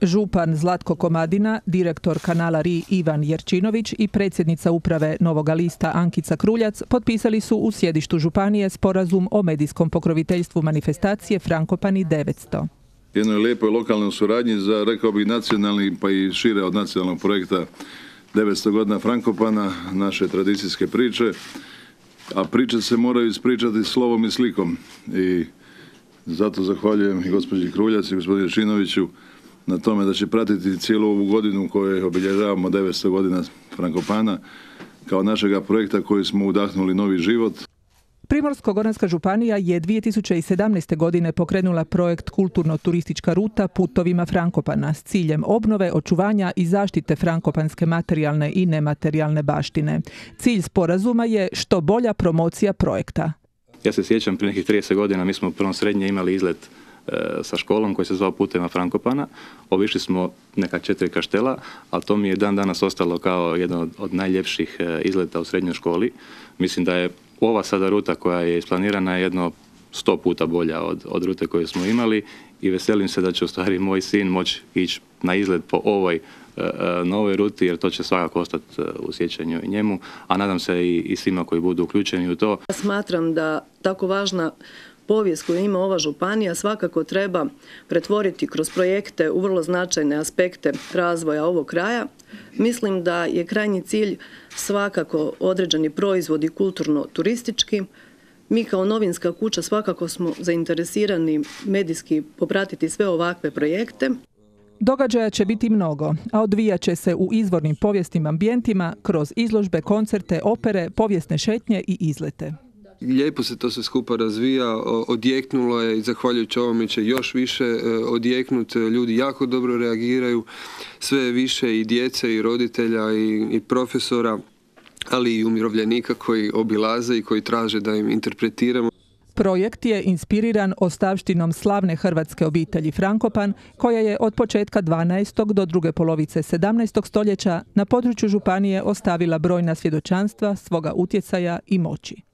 Župan Zlatko Komadina, direktor kanala RI Ivan Jerčinović i predsjednica uprave Novoga lista Ankica Kruljac potpisali su u sjedištu županije sporazum o medijskom pokroviteljstvu manifestacije Frankopani 900. Jednoj lijepoj lokalnoj suradnji za, rekao bih, nacionalni pa i šire od nacionalnog projekta 900 godina Frankopana, naše tradicijske priče, a priče se moraju ispričati slovom i slikom. I zato zahvaljujem i gospođi Kruljac i gospodinu Jerčinoviću na tome da će pratiti cijelu ovu godinu u kojoj obilježavamo 900 godina Frankopana kao našega projekta koji smo udahnuli novi život. Primorsko-goranska županija je 2017. godine pokrenula projekt Kulturno-turistička ruta putovima Frankopana s ciljem obnove, očuvanja i zaštite frankopanske materijalne i nematerijalne baštine. Cilj sporazuma je što bolja promocija projekta. Ja se sjećam, prije nekih 30 godina mi smo u prvom srednje imali izlet sa školom koji se zvao Putevima Frankopana. Obišli smo neka 4 kaštela, ali to mi je dan danas ostalo kao jedan od najljepših izleta u srednjoj školi. Mislim da je ova sada ruta koja je isplanirana jedno 100 puta bolja od rute koju smo imali i veselim se da će u stvari moj sin moći ići na izlet po ovoj novoj ruti, jer to će svakako ostati u sjećanju i njemu, a nadam se i svima koji budu uključeni u to. Smatram da tako važna povijest koju ima ova županija svakako treba pretvoriti kroz projekte u vrlo značajne aspekte razvoja ovog kraja. Mislim da je krajnji cilj svakako određeni proizvodi kulturno-turistički. Mi kao novinska kuća svakako smo zainteresirani medijski popratiti sve ovakve projekte. Događaja će biti mnogo, a odvijat će se u izvornim povijesnim ambijentima kroz izložbe, koncerte, opere, povijesne šetnje i izlete. Lijepo se to sve skupa razvija, odjeknulo je i zahvaljujući ovome će još više odjeknuti. Ljudi jako dobro reagiraju, sve više i djece i roditelja i profesora, ali i umirovljenika koji obilaze i koji traže da im interpretiramo. Projekt je inspiriran ostavštinom slavne hrvatske obitelji Frankopan, koja je od početka 12. do druge polovice 17. stoljeća na području županije ostavila brojna svjedočanstva svoga utjecaja i moći.